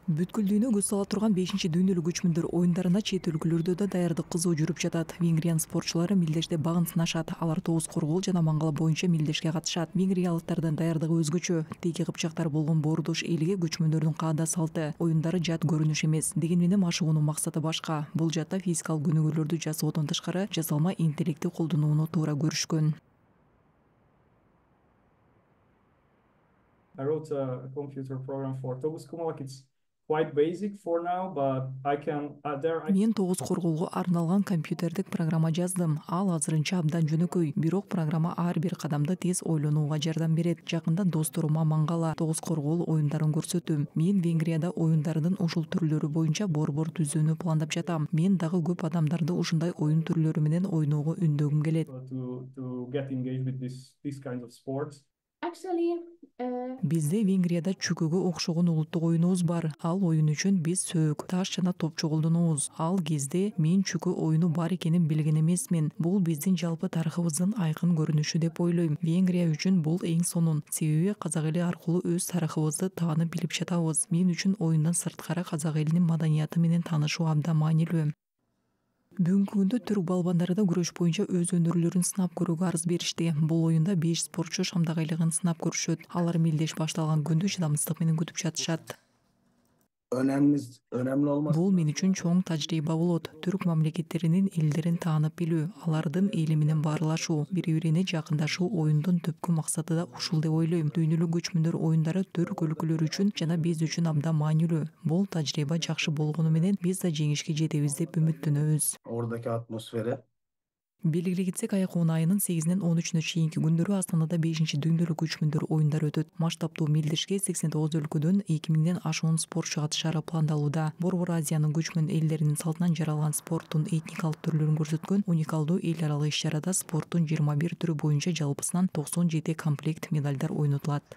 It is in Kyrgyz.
Бүткүл дүйнө көз сала турган 5-дүйнөлүк көчмөндөр оюндарына чет өлкөлөрдө да даярдык кызуу жүрүп жатат. Венгриянын спортчулары милдеште багын сынашат. Алар тогуз коргоол жана мангала боюнча милдешке катышат. Венгриялыктардын даярдыгы өзгөчө. Теги кыпчактар болгон боордош элге көчмөндөрдүн каада салты, оюндары жат көрүнүш эмес. Деген менен машыгуунун максаты башка. Бул жакта физикалык көнүгүүлөрдү жасоодон тышкары жасалма интеллектти колдонууну туура көрүшкөн. I wrote a computer program for Togus Kumalak. It's quite basic for now, but I can Мен тогуз коргоолго арналган компьютердик программа жаздым. Ал азырынча абдан жөнөкөй, бирок программа ар бир кадамды тез ойлонууга жардам берет. Жакында досторума мангала, тогуз коргоол оюндарын көрсөттүм. Мен Венгрияда оюндардын ушул түрлөрү боюнча борбор түзүүнү пландап жатам. Мен дагы көп адамдарды ушундай оюн түрлөрү менен ойноого үндөгүм келет. To get engaged with this kind of sports. Бизде Венгрияда чүкөгө окшогон улуттук оюнубуз бар. Ал оюн үчүн биз сөөк, таш жана топчу колдонобуз. Ал кезде мен чүкө оюну бар экенин билген эмесмин. Бул биздин жалпы тарыхыбыздын айкын көрүнүшү деп ойлойм. Венгрия үчүн бул эң сонун. Себеби казак эли аркылуу өз тарыхыбызды таанып билип жатабыз. Мен үчүн оюндан сырткары казак элинин маданияты менен таанышуу абдан маанилүү. Бүгүнкү күндө түрк балбандары да күрөш боюнча өз өнөрлөрүн сынап көрүүгө арыз беришти. Бул оюнда 5 спортчу шамдак айлыгын сынап көрүшөт. Алар милдеш башталган күндү чыдамсыздык менен күтүп жатышат. Бул мен үчүн чоң тажрыйба болот. Түрк мамлекеттеринин элдерин таанып билүү, алардын эли менен баарлашуу, бири-бирине жакындашуу оюндун түпкү максаты да ушул деп ойлойм. Дүйнөлүк көчмөндөр оюндары түрк өлкөлөрү үчүн жана биз үчүн абдан маанилүү. Бул тажрыйба жакшы болгону менен биз да жеңишке жетебиз деп үмүттөнөбүз. Ордaki атмосфера. Белгилей кетсек, айкуун айынын 8-нен 13-үнө чейинки күндөрү Астанада 5-дүйнөлүк көчмөндөр оюндары өтөт. Масштабтуу милдешке 89 өлкөдөн 2000ден ашуун спортчу катышары пландалууда. Борбор Азиянын көчмөн элдеринин салтынан жаралган спорттун этникалык түрлөрүн көрсөткөн уникалдуу эл аралык иш-чарада спорттун 21 түрү боюнча жалпысынан 97 комплект медалдар ойнотулат.